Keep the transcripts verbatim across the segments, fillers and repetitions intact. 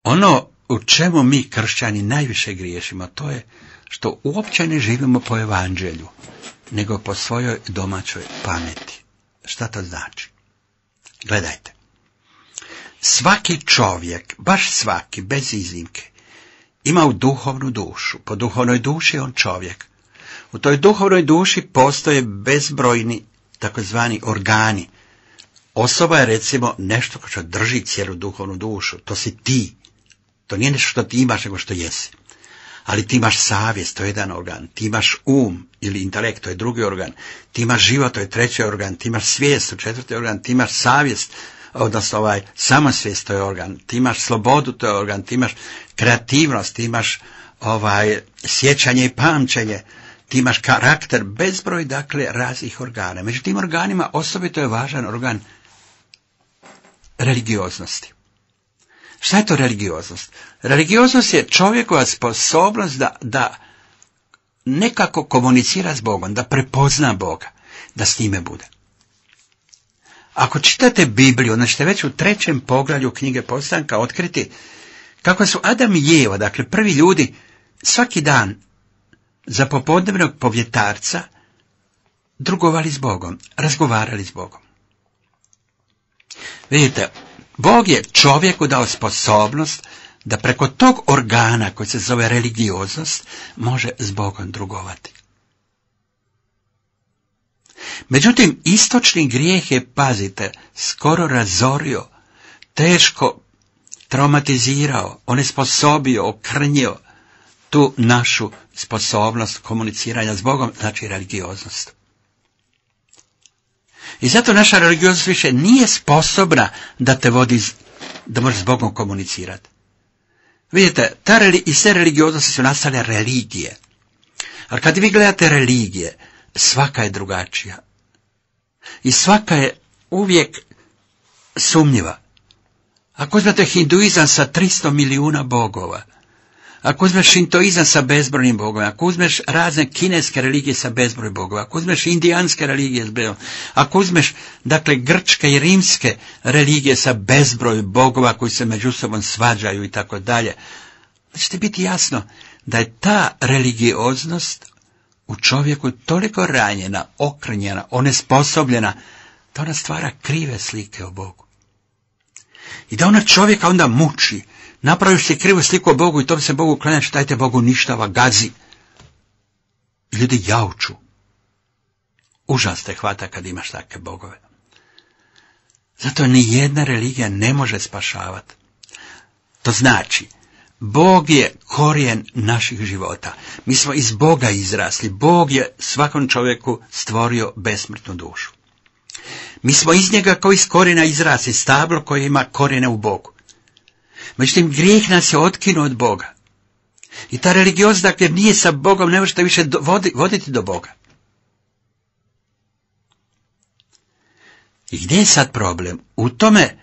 Ono u čemu mi kršćani najviše griješimo, to je što uopće ne živimo po evanđelju, nego po svojoj domaćoj pameti. Šta to znači? Gledajte. Svaki čovjek, baš svaki, bez iznimke, ima u duhovnu dušu. Po duhovnoj duši je on čovjek. U toj duhovnoj duši postoje bezbrojni takozvani organi. Osoba je recimo nešto što drži cijelu duhovnu dušu. To si ti. To nije nešto što ti imaš, nego što jesi. Ali ti imaš savjest, to je jedan organ. Ti imaš um ili intelekt, to je drugi organ. Ti imaš život, to je treći organ. Ti imaš svijest, to je četvrti organ. Ti imaš savjest, odnosno ovaj, samosvijest, to je organ. Ti imaš slobodu, to je organ. Ti imaš kreativnost, ti imaš ovaj, sjećanje i pamćenje. Ti imaš karakter, bezbroj, dakle, raznih organa. Među tim organima osobito je važan organ religioznosti. Šta je to religioznost? Religioznost je čovjekova sposobnost da, da nekako komunicira s Bogom, da prepozna Boga, da s njime bude. Ako čitate Bibliju, onda ćete već u trećem poglavlju knjige Postanka otkriti kako su Adam i Eva, dakle prvi ljudi, svaki dan za popodnevnog povjetarca drugovali s Bogom, razgovarali s Bogom. Vidite, Bog je čovjeku dao sposobnost da preko tog organa koji se zove religioznost može s Bogom drugovati. Međutim, istočni grijeh je, pazite, skoro razorio, teško traumatizirao, onesposobio, okrnjio tu našu sposobnost komuniciranja s Bogom, znači religioznost. I zato naša religioznost više nije sposobna da te vodi, da možeš s Bogom komunicirati. Vidite, ta reli, iz te religioznosti su nastale religije. Ali kad vi gledate religije, svaka je drugačija. I svaka je uvijek sumnjiva. Ako uzmete hinduizam sa tristo milijuna bogova, ako uzmeš šintoizam sa bezbrojnim bogovima, ako uzmeš razne kineske religije sa bezbroj bogova, ako uzmeš indijanske religije s bezbroj, ako uzmeš, dakle, grčke i rimske religije sa bezbroj bogova koji se među sobom svađaju i tako dalje, da će ti biti jasno da je ta religioznost u čovjeku toliko ranjena, okrnjena, onesposobljena, da ona stvara krive slike o Bogu. I da ona čovjeka onda muči. Napraviš si krivu sliku o Bogu i tom se Bogu klanjaš, taj te Bog uništava, gazi. I ljudi jauču. Užas te hvata kad imaš takve bogove. Zato ni jedna religija ne može spašavati. To znači, Bog je korijen naših života. Mi smo iz Boga izrasli. Bog je svakom čovjeku stvorio besmrtnu dušu. Mi smo iz njega kao iz korijena izrasli, stablo koje ima korijene u Bogu. Međutim, grijeh nas je otkinuo od Boga. I ta religioznost, dakle, nije sa Bogom, ne možete više voditi do Boga. I gdje je sad problem? U tome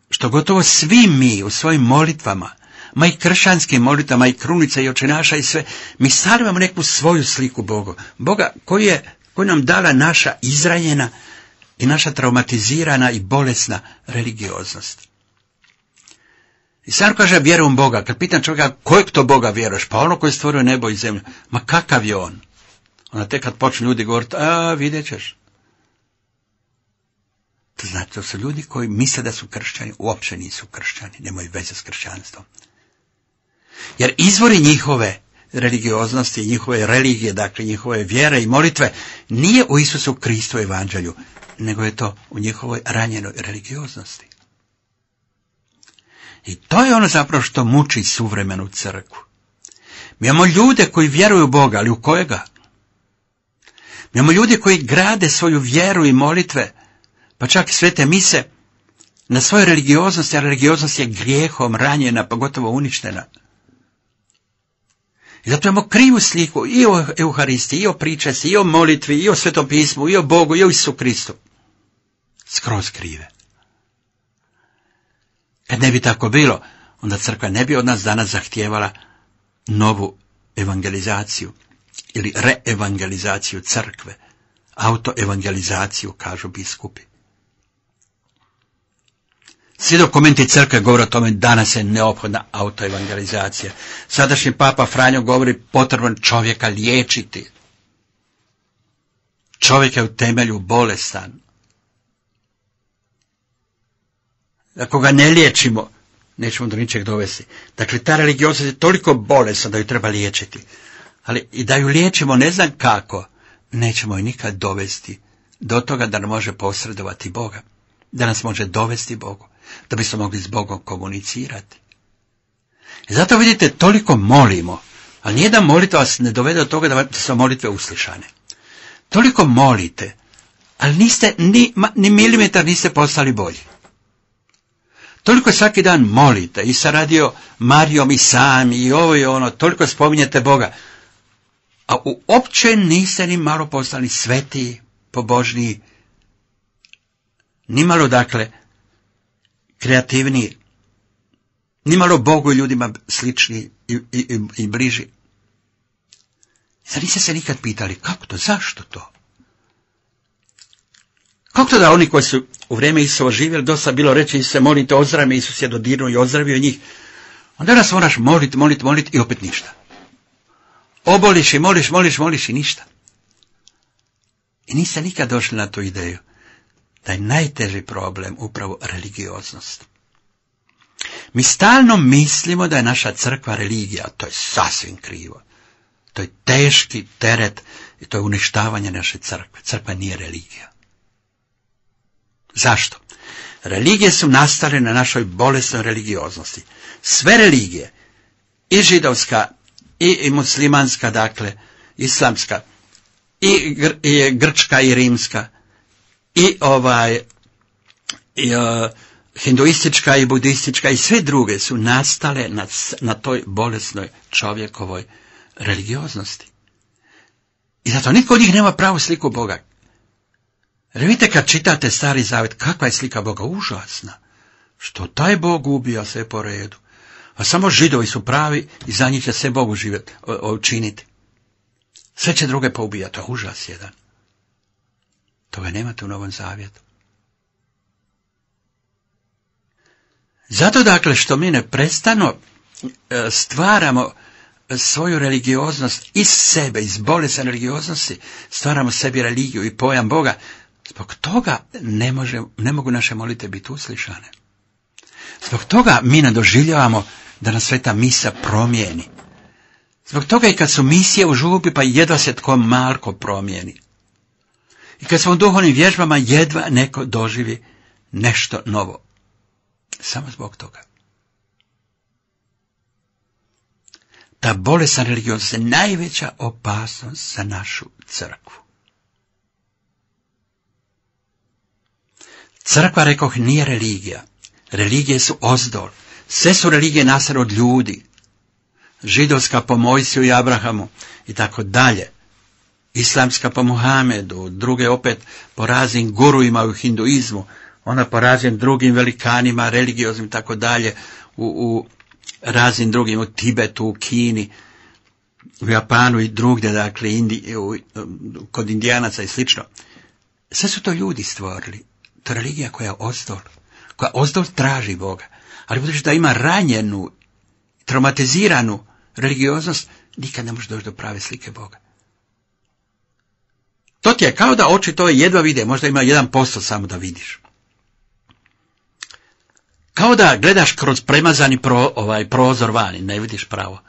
što gotovo svi mi u svojim molitvama, ma i kršćanskim molitvama, i krunica, i očenaša, i sve, mi stavljamo neku svoju sliku Boga. Boga koji je, koji nam dala naša izranjena i naša traumatizirana i bolesna religioznost. I sam kaže, vjerujem Boga. Kad pitam čovjeka, kojeg to Boga vjeruješ? Pa ono koji je stvorio nebo i zemlju. Ma kakav je on? Onda tek kad počnu ljudi govoriti, a vidjet ćeš. To znači, to su ljudi koji misle da su kršćani, uopće nisu kršćani, nemaju veze s kršćanstvom. Jer izvori njihove religioznosti, njihove religije, dakle njihove vjere i molitve, nije u Isusu Kristu evanđelju, nego je to u njihovoj ranjenoj religioznosti. I to je ono zapravo što muči suvremenu crkvu. Mi imamo ljude koji vjeruju u Boga, ali u kojega? Mi imamo ljude koji grade svoju vjeru i molitve, pa čak i svete mise, na svojoj religioznosti, a religioznost je grijehom ranjena, pa gotovo uništena. I zato imamo krivu sliku i o Euharistiji, i o pričesti, i o molitvi, i o Svetom pismu, i o Bogu, i o Isusu Kristu. Skroz krive. Kad ne bi tako bilo, onda crkva ne bi od nas danas zahtijevala novu evangelizaciju ili reevangelizaciju crkve, autoevangelizaciju, kažu biskupi. Svi dokumenti crkve govore o tome danas je neophodna autoevangelizacija. Sadašnji papa Franjo govori potrebno čovjeka liječiti. Čovjek je u temelju bolestan. Ako ga ne liječimo, nećemo do ničeg dovesti. Dakle, ta religioznost je toliko bolesna da ju treba liječiti. Ali i da ju liječimo ne znam kako, nećemo ju nikad dovesti do toga da nam može posredovati Boga. Da nas može dovesti Bogu. Da bismo mogli s Bogom komunicirati. I zato vidite, toliko molimo, ali nijedan molitva vas ne dovede do toga da su molitve uslišane. Toliko molite, ali niste, ni, ni milimetar niste postali bolji. Toliko svaki dan molite, i sa radio Marijom i sami, i ovo i ono, toliko spominjete Boga, a uopće niste ni malo postali svetiji, pobožniji, ni malo, dakle, kreativniji, ni malo Bogu i ljudima sličniji i, i, i, i bliži. Zar niste se nikad pitali kako to, zašto to? Kako to da oni koji su u vrijeme Isusova živjeli, dosta bilo reći Isus se molite, ozdravi, Isus je dodirnuo i ozdravio njih. Onda nas moraš moliti, moliti, moliti i opet ništa. Oboliš i moliš, moliš, moliš i ništa. I niste nikad došli na tu ideju da je najteži problem upravo religioznost. Mi stalno mislimo da je naša crkva religija, to je sasvim krivo. To je teški teret i to je uništavanje naše crkve. Crkva nije religija. Zašto? Religije su nastale na našoj bolesnoj religioznosti. Sve religije, i židovska, i, i muslimanska, dakle, islamska, i, gr, i grčka, i rimska, i ovaj, i, uh, hinduistička, i budistička, i sve druge su nastale na, na toj bolesnoj čovjekovoj religioznosti. I zato nitko od njih nema pravu sliku Boga. Jer vidite kad čitate Stari Zavet, kakva je slika Boga, užasna. Što taj Bog ubija sve po redu. A samo Židovi su pravi i za njih će sve Bogu živjeti, učiniti. Sve će druge poubijati, to je užas jedan. Toga nemate u Novom Zavjetu. Zato dakle što mi neprestano stvaramo svoju religioznost iz sebe, iz bolesne religioznosti, stvaramo sebi religiju i pojam Boga, zbog toga ne, može, ne mogu naše molite biti uslišane. Zbog toga mi ne doživljavamo da nas sveta misa promijeni. Zbog toga i kad su misije u župi, pa jedva se tko malko promijeni. I kad smo u duhovnim vježbama, jedva neko doživi nešto novo. Samo zbog toga. Ta bolesna religioznost je najveća opasnost za našu crkvu. Crkva, rekoh, nije religija. Religije su ozdol. Sve su religije nastale od ljudi. Židovska po Mojsiju i Abrahamu i tako dalje. Islamska po Muhamedu, druge opet po raznim guruima u hinduizmu, ona po raznim drugim velikanima, religioznim i tako dalje, u, u raznim drugim, u Tibetu, u Kini, u Japanu i drugdje, dakle, Indi, u, kod Indijanaca i slično. Sve su to ljudi stvorili. To je religija koja je ozdol, koja ozdol traži Boga. Ali budući da ima ranjenu, traumatiziranu religioznost, nikad ne može doći do prave slike Boga. To ti je kao da oči to jedva vide, možda ima jedan posto samo da vidiš. Kao da gledaš kroz premazani pro, ovaj, prozor vani, ne vidiš pravo.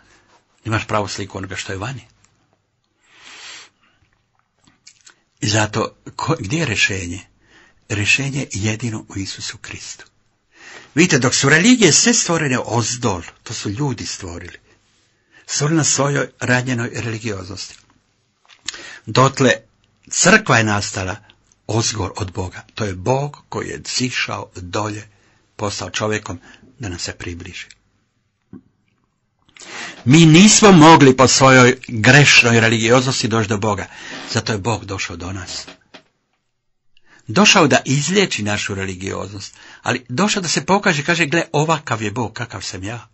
Imaš pravu sliku onoga što je vani. I zato, ko, gdje je rješenje? Rješenje jedino u Isusu Kristu. Vidite, dok su religije sve stvorene ozdol, to su ljudi stvorili. Stvorili na svojoj ranjenoj religioznosti. Dotle, crkva je nastala ozgor od Boga. To je Bog koji je sišao dolje, postao čovjekom da nam se približi. Mi nismo mogli po svojoj grešnoj religioznosti doći do Boga. Zato je Bog došao do nas. Došao da izliječi našu religioznost, ali došao da se pokaže, kaže, gle, ovakav je Bog, kakav sam ja.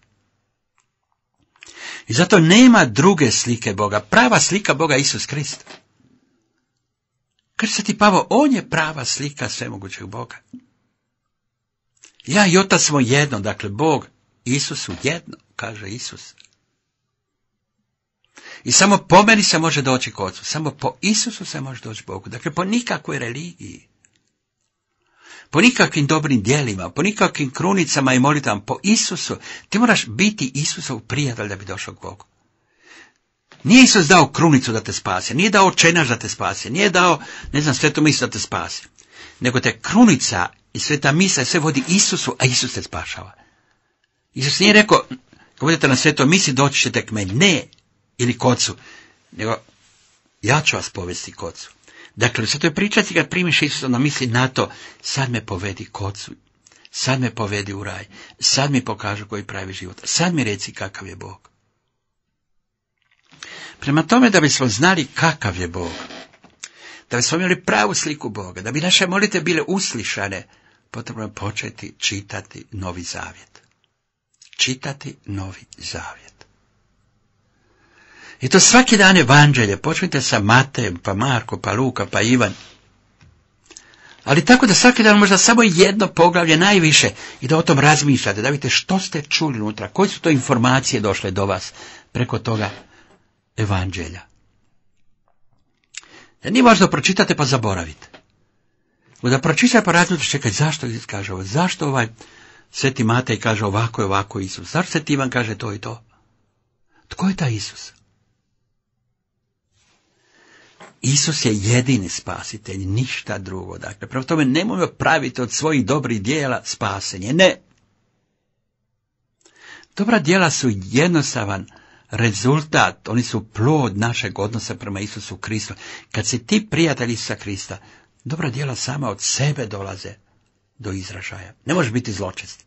I zato nema druge slike Boga. Prava slika Boga je Isus Krist. Kaže se ti Pavo, on je prava slika svemogućeg Boga. Ja i Otac smo jedno, dakle Bog, Isus su jedno, kaže Isus. I samo po meni se može doći k Ocu, samo po Isusu se može doći Bogu, dakle po nikakvoj religiji. Po nikakvim dobrim djelima, po nikakvim krunicama i molitvama, po Isusu. Ti moraš biti Isusov prijatelj da bi došao k Bogu. Nije Isus dao krunicu da te spasi, nije dao očenaš da te spasi, nije dao, ne znam, svetu misu da te spasi. Nego te krunica i sveta misa sve vodi Isusu, a Isus te spašava. Isus nije rekao, kad budete na svetom misi, doći ćete k meni, ne, ili k Ocu, nego ja ću vas povesti k Ocu. Dakle, sve to je pričati kad primiš Isusa, onda misli na to, sad me povedi k Ocu, sad me povedi u raj, sad mi pokažu koji pravi život, sad mi reci kakav je Bog. Prema tome, da bismo znali kakav je Bog, da bismo imali pravu sliku Boga, da bi naše molite bile uslišane, potrebno je početi čitati Novi Zavjet. Čitati Novi Zavjet. I to svaki dan evanđelje, počnite sa Matejem, pa Marko, pa Luka, pa Ivan. Ali tako da svaki dan možda samo jedno poglavlje najviše i da o tom razmišljate, da vidite što ste čuli unutra, koje su to informacije došle do vas preko toga evanđelja. Da nije važno pročitate pa zaboravite. Da pročitate pa razmišljate, čekaj, zašto Isus kaže ovo, zašto ovaj Sveti Matej kaže ovako i ovako Isus, zašto Sveti Ivan kaže to i to? Tko je taj Isus? Isus je jedini spasitelj, ništa drugo. Dakle, prema tome nemojmo praviti od svojih dobrih djela spasenje. Ne. Dobra djela su jednostavan rezultat, oni su plod našeg odnosa prema Isusu Kristu. Kad si ti prijatelj Isusa Krista, dobra djela sama od sebe dolaze do izražaja. Ne možeš biti zločest.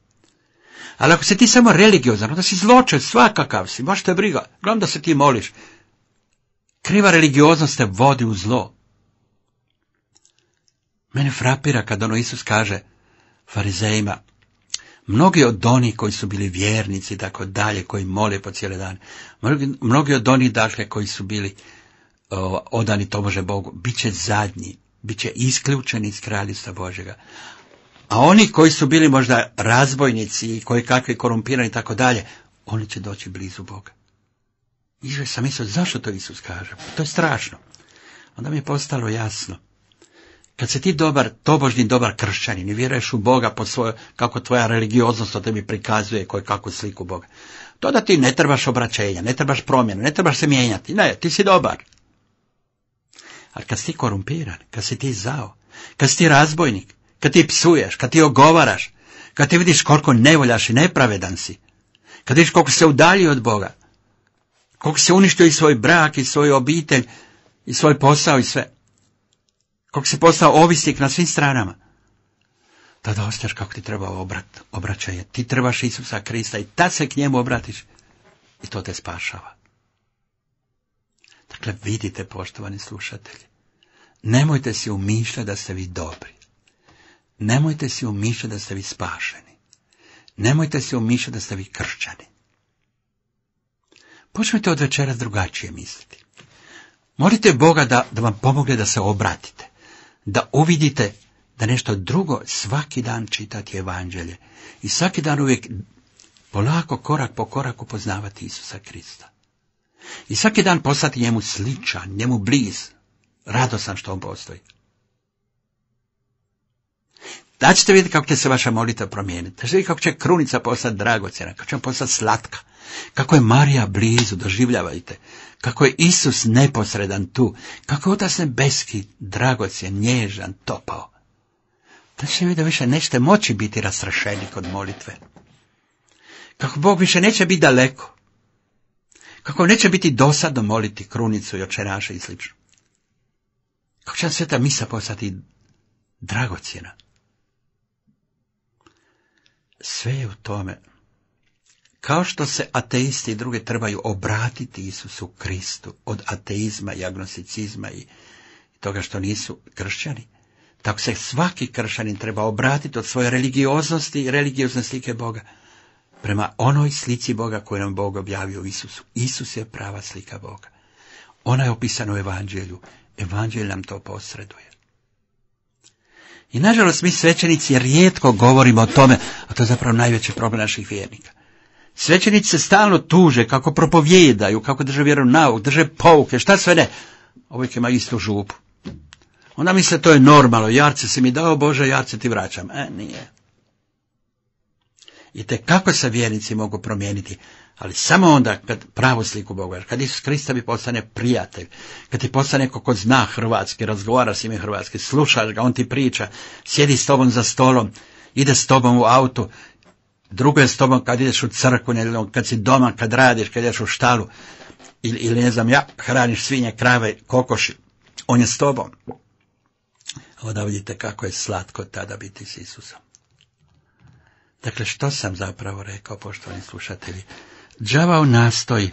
Ali ako si ti samo religiozan, onda si zločest, svakakav si, baš te briga, gledam da se ti moliš. Kriva religioznost te vodi u zlo. Mene frapira kad ono Isus kaže farizejima, mnogi od onih koji su bili vjernici i tako dalje, koji mole po cijele dane, mnogi, mnogi od onih dakle koji su bili o, odani tobože Bogu, bit će zadnji, bit će isključeni iz kraljevstva Božjega. A oni koji su bili možda razbojnici i koji kakvi korumpirani i tako dalje, oni će doći blizu Boga. I sam mislio, zašto to Isus kaže? To je strašno. Onda mi je postalo jasno. Kad se ti dobar, tobožni dobar kršćanin i vjeruješ u Boga po svojoj, kako tvoja religioznost o tebi prikazuje koju kakvu sliku Boga, to da ti ne trebaš obraćenja, ne trebaš promjene, ne trebaš se mijenjati. Ne, ti si dobar. Ali kad si ti korumpiran, kad si ti zao, kad si ti razbojnik, kad ti psuješ, kad ti ogovaraš, kad ti vidiš koliko nevoljaš i nepravedan si, kad vidiš koliko se udalji od Boga, koliko se uništio i svoj brak, i svoju obitelj, i svoj posao i sve. Koliko se postao ovisnik na svim stranama. Tada osjećaš kako ti treba obrat, obraćanje. Ti trebaš Isusa Krista i tad se k njemu obratiš i to te spašava. Dakle, vidite, poštovani slušatelji, nemojte si umišljati da ste vi dobri. Nemojte si umišljati da ste vi spašeni. Nemojte si umišljati da ste vi kršćani. Počnite od večeras drugačije misliti. Molite Boga da, da vam pomogne da se obratite, da uvidite da nešto drugo svaki dan čitati evanđelje i svaki dan uvijek polako, korak po koraku poznavati Isusa Krista. I svaki dan postati njemu sličan, njemu bliz, radosan što on postoji. Da ćete vidjeti kako će se vaša molitva promijeniti. Da ćete vidjeti kako će krunica postati dragocjena, kako će postati slatka. Kako je Marija blizu, doživljavajte. Kako je Isus neposredan tu. Kako je Otac nebeski, dragocjen, nježan, topao. Da ćete vidjeti da više nećete moći biti rastrašeni kod molitve. Kako Bog više neće biti daleko. Kako neće biti dosadno moliti krunicu i očenaše i slično. Kako će vam sveta misa postati dragocjena. Sve je u tome. Kao što se ateisti i druge trebaju obratiti Isusu Kristu od ateizma i agnosticizma i toga što nisu kršćani, tako se svaki kršćanin treba obratiti od svoje religioznosti i religiozne slike Boga prema onoj slici Boga koju nam Bog objavio u Isusu. Isus je prava slika Boga. Ona je opisana u evanđelju. Evanđelj nam to posreduje. I nažalost mi svećenici rijetko govorimo o tome, a to je zapravo najveći problem naših vjernika. Svećenici se stalno tuže kako propovijedaju, kako drže vjeronauk, drže pouke, šta sve ne. Uvijek ima istu župu. Onda misle to je normalno, jarce si mi dao Bože, jarce ti vraćam. E, nije. I te kako se vjernici mogu promijeniti, ali samo onda kad pravu sliku Boga, kad Isus Krista bi postane prijatelj, kad ti postane neko ko zna hrvatski, razgovara s ime hrvatski, slušaš ga, on ti priča, sjedi s tobom za stolom, ide s tobom u autu, drugo je s tobom kad ideš u crkvu, kad si doma, kad radiš, kad ideš u štalu, ili, ili ne znam ja, hraniš svinje, krave, kokoši, on je s tobom. Onda vidite kako je slatko tada biti s Isusom. Dakle, što sam zapravo rekao, poštovani slušatelji? Đavao nastoji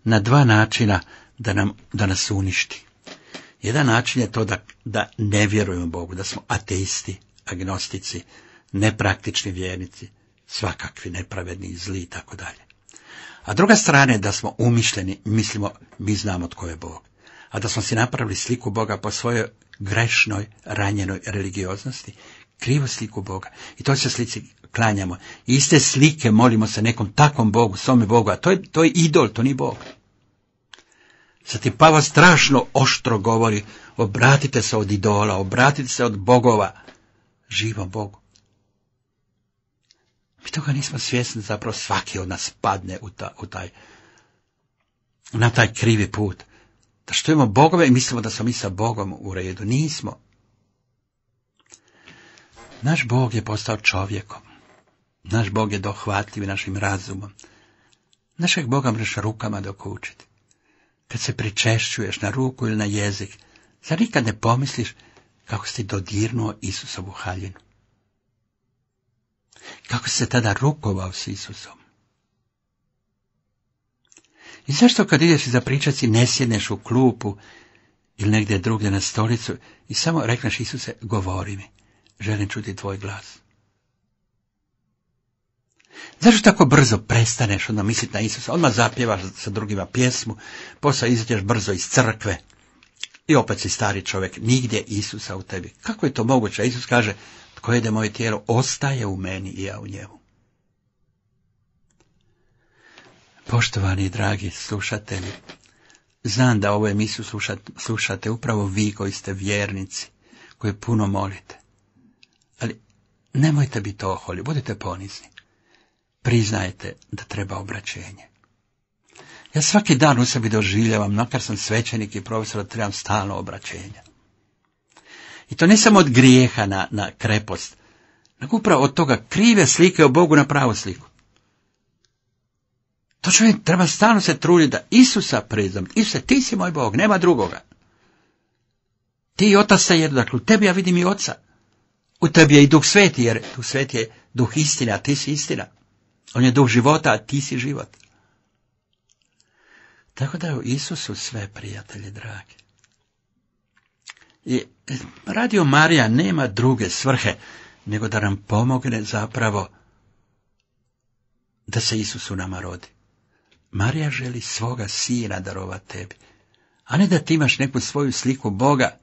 na dva načina da, nam, da nas uništi. Jedan način je to da, da ne vjerujemo Bogu, da smo ateisti, agnostici, nepraktični vjernici, svakakvi, nepravedni, zli i tako dalje. A druga strana je da smo umišljeni, mislimo, mi znamo tko je Bog. A da smo si napravili sliku Boga po svojoj grešnoj, ranjenoj religioznosti, krivu sliku Boga. I to se slici klanjamo. I iste slike molimo se nekom takvom Bogu, svome Bogu, a to je, to je idol, to nije Bog. Sad ti Pavao strašno oštro govori, obratite se od idola, obratite se od bogova, živom Bogu. Mi toga nismo svjesni, zapravo svaki od nas padne u, ta, u taj, na taj krivi put. Da što imamo bogove i mislimo da smo mi sa Bogom u redu. Nismo. Naš Bog je postao čovjekom. Naš Bog je dohvatljiv našim razumom. Našeg Boga možeš rukama dokučiti. Kad se pričešćuješ na ruku ili na jezik, zar nikad ne pomisliš kako si dodirnuo Isusovu haljinu? Kako si se tada rukovao s Isusom? I zašto kad ideš za pričati ne sjedneš u klupu ili negdje drugdje na stolicu i samo rekneš Isuse, govori mi, želim čuti tvoj glas. Zašto tako brzo prestaneš onda misliti na Isusa, odmah zapjevaš sa drugima pjesmu, poslije izađeš brzo iz crkve i opet si stari čovjek, nigdje Isusa u tebi. Kako je to moguće? Isus kaže, tko jede moje tijelo, ostaje u meni i ja u njemu. Poštovani i dragi slušatelji, znam da ovu emisiju slušate, slušate upravo vi koji ste vjernici, koji puno molite. Ali nemojte biti oholi, budite ponizni. Priznajte da treba obraćenje. Ja svaki dan u sebi doživljavam, makar sam svećenik i profesor, da trebam stalno obraćenja. I to ne samo od grijeha na, na krepost, nego upravo od toga krive slike o Bogu na pravu sliku. To čovjek treba stalno se truditi da Isusa priznam. Isuse, ti si moj Bog, nema drugoga. Ti i Otac ste jedno, dakle u tebi ja vidim i Oca. U tebi je i Duh Sveti, jer Duh Sveti je Duh istine, a ti si istina. On je Duh života, a ti si život. Tako da je u Isusu sve, prijatelji dragi. I Radio Marija nema druge svrhe, nego da nam pomogne zapravo da se Isus u nama rodi. Marija želi svoga sina darovati tebi, a ne da ti imaš neku svoju sliku Boga,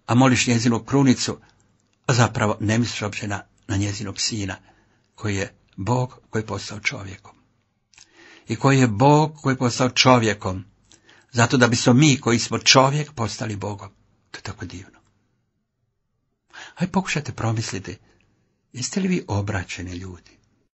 a moliš njezinu krunicu, a zapravo ne misliš uopće na, na njezinog sina, koji je Bog koji je postao čovjekom. I koji je Bog koji je postao čovjekom, zato da bismo mi koji smo čovjek postali Bogom. To je tako divno. Hajde pokušajte promisliti, jeste li vi obraćeni ljudi?